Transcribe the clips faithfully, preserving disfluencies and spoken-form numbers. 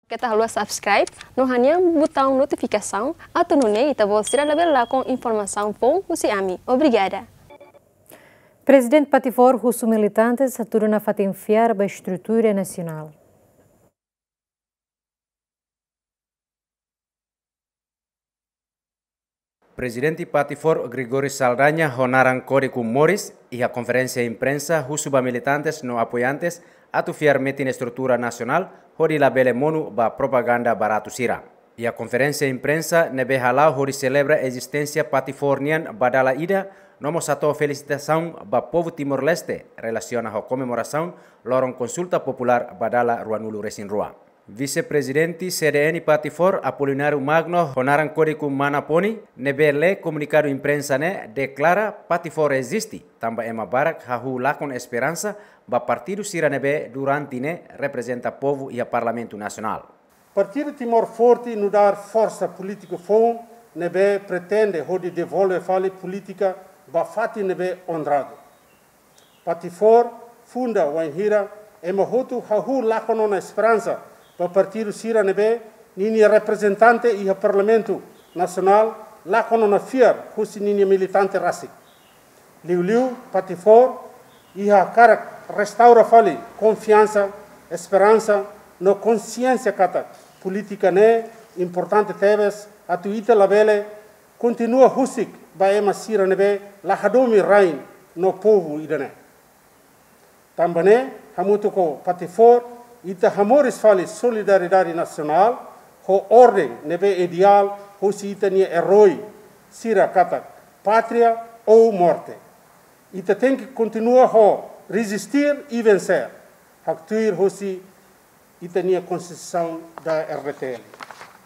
Keta haluha subscribe no hanehan butaun notifikasaun atu nune'e ita-boot sira labele lakon informasaun foun husi ami. Obrigada. Prezidente Patifor husu militantes hatudu nafatin fiar ba estrutura nasionál. Prezidente Patifor Gregório Saldanha ho naran kódigu moris iha konferénsia imprensa husu ba militantes no apoiantes atu fiar metin estrutura nasionál hodi labele monu ba propaganda baratu sira. Iha konferénsia imprensa ne'ebé hala'o hodi selebra ezisténsia Patifor nian ba dala ida, no mós hato'o felisitasaun ba povu Timor-Leste relasiona ho komemorasaun loron konsulta populár ba dala ruanulu-resin-rua. Vise-Prezidente C D N Patifor Apolinário Magno ho naran kódigu Mana Poni, ne'ebé lee komunikadu imprensa ne'e deklara Patifor eziste, tanba ema barak hahú lakon esperansa ba partidu sira ne'ebé durante ne'e reprezenta povu iha Parlamentu Nasionál. Partidu Timor Forte nu'udar forsa polítika foun ne'ebé pretende hodi devolve fali polítika ba fatin ne'ebé onradu. Patifor funda wainhira ema hotu hahú lakon ona esperansa ba partidu sira ne'ebé ninia reprezentante iha Parlamentu Nasionál lakon ona fiar husi ninia militante rasik. Liuliu Patifor iha hakarak restaura fali konfiansa, esperansa no konxiénsia katak polítika ne'e importante tebes atu ita labele kontinua husik ba ema sira ne'ebé la hadomi rain no povu ida-ne'e. Tanba ne'e, hamutuk ho Patifor, ita hamoris fali solidariedade nasionál ho orden ne'ebé ideál husi ita-nia erói sira katak pátria ou morte. Ita tenke kontinua ho resistir e vencer. Haktuir husi ita-nia Konstituisaun da R D T L.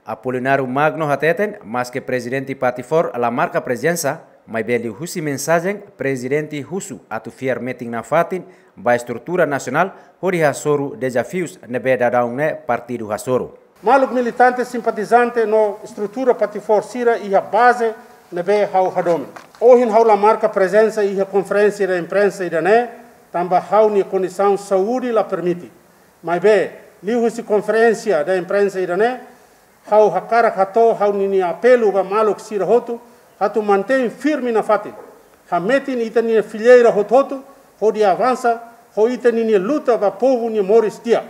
Apolinário Magno hateten, maske Prezidente Patifor la marka prezensa, maibé liuhusi mensajen, Prezidente husu atu fiar metin nafatin ba estrutura nasionál hodi hasoru dezafius ne'ebé daudaun ne'e partidu hasoru. Maluk militante, simpatizante no estrutura Patifor sira iha baze ne'ebé ha'u hadomi. Ohin ha'u la marka prezensa iha konferénsia da imprensa ida-ne'e, tanba ha'u-nia kondisaun saúde la permite. Maibé, liuhusi konferénsia da imprensa ida-ne'e, ha'u hakarak hato'o ha'u-nia apelu ba maluk sira hotu, atu mantein firme nafatin. Hametin ita-nia fileira hotu-hotu, hodi avansa, ho ita-nia luta ba povu nia moris di'ak.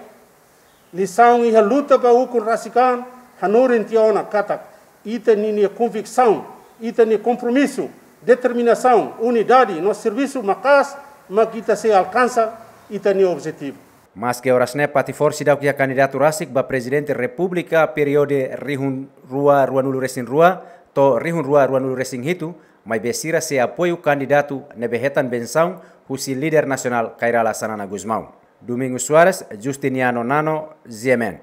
Lisaun iha luta ba ukun rasik an, hanorin tiha ona katak, ita-nia konviksaun, ita-nia kompromisu, determinasaun, unidade no servisu maka'as, mak ita sei alkansa ita-nia objetivu. Maske oras ne'e Patifor seidauk iha kandidatu rasik ba Prezidente Repúblika períodu rihun rua ruanulu-resin-rua to'o rihun rua ruanulu-resin-hitu, maibé sira sei apoiu kandidatu ne'ebé hetan bensaun husi líder nasionál Kay Rala Xanana Gusmão. Domingos Soares, Justiniano Nano, G M N.